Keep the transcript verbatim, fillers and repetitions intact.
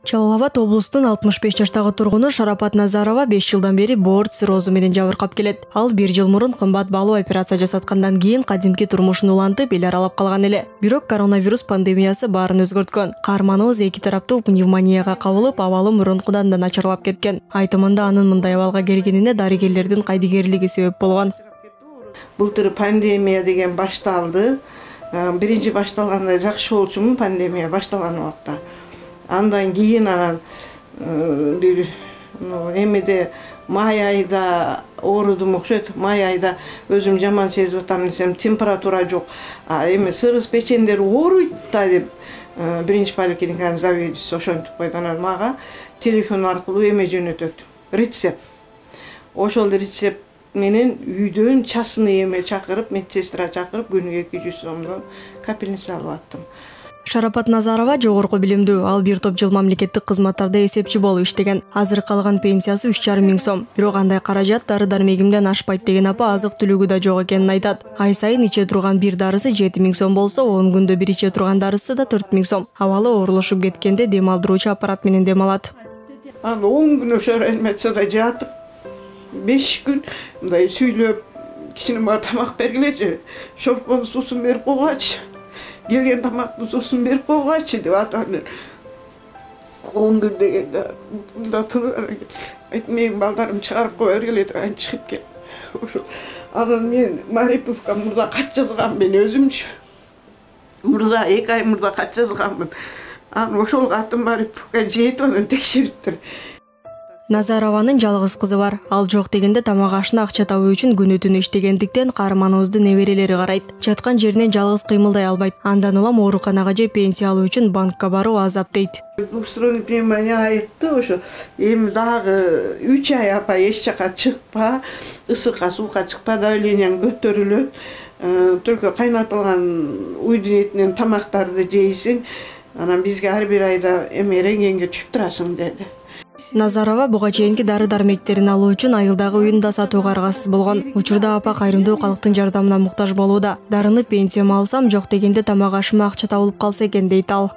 Жалал Абад облустун алтымыш беш жаштагы тургуну Шарапат Назарова беш жылдан бери боорт циррозу менен жабыркап келет. Ал бир жыл мурун кымбат баалуу операция жасаткандан кийин кадимки турмушун улантып эл аралап калган эле. Бирок коронавирус пандемиясы баарын өзгөрткөн. Каарманыбыз эки тараптуу пневмонияга кабылып, абалы мурункудан да начарлап кеткен. Айтымында анын мындай абалга келгенине дарыгерлердин кайдыгерлиги себеп болгон. Былтыр пандемия деген башталды. Биринчи башталганда жакшы болчумун, пандемия башталган убакта. Андан кийин анан бир эмеде май айда оорудум окшойт. Май айда өзүм жаман сезип атам десем, температура жок. А эме сырыс печендер ооруйт да деп биринчи поликлиниканын заведующиси ошентип койду. Анан мага телефон аркылуу эме жөнөтөт. Рецепт. Ошол рецепт менен үйдөн частный эме чакырып, медсестра чакырып күнүгө эки жүз сомдон капельница алып аттым. Шарапат Назарова жогорку билимдүү, ал бир топ жыл мамлекеттик кызматтарда эсепчи болуп иштеген. Азыр калган пенсиясы үч жарым миң сом. Бирок андай каражат дары-дармегимден ашпайт деген апа азык-түлүгү да жок экенин айтат. Ай сайын иче турган бир дарысы жети миң сом болсо, он күндө бир иче турган дарысы да төрт миң сом. Абалы оорулушуп кеткенде дем алдыруучу аппарат менен дем алат. Аны он күн ошо реанимацияда жатып, беш күн мындай сүйлөп, кичине мага тамак бергилечи, шорпонун суусун берип койгулачы. Келген тамактын суусун берип койгулачы деп атам. он күн дегенде мында туруп айт, менин балдарым чыгарып кое бергиле деп анан чыгып кел. Ошо анан мен Мариповка мурда кат жазгам, мен өзүмчү. Мурда эки ай мурда кат жазганмын. Анан ошол катын Мариповка жетип анан текшериптир. Назарованын жалгыз кызы бар. Ал жок дегенде тамак ашына акча табуу үчүн күнү-түнү иштегендиктен каарманыбызды неберелери карайт. Жаткан жеринен жалгыз кыймылдай албайт. Андан улам ооруканага же пенсия алуу үчүн банкка баруу азап дейт. Двухсторонний пневмония айыкты, ошо эми дагы үч ай апа эч жака чыкпа, ысыкка, суукка чыкпа, давлениең көтөрүлөт. Только кайнатылган уйдун этинен тамактарды жейсиң, анан бизге ар бир айда эме рентгенге түшүп турасың деди. Назарова буга чейинки дары-дармектерин алуу үчүн айылдагы үйүн да сатууга аргасыз болгон. Учурда апа кайрымдуу калктын жардамына муктаж болууда. Дарыны пенсияма алсам, жок дегенде тамак ашыма акча табылып калса экен дейт ал.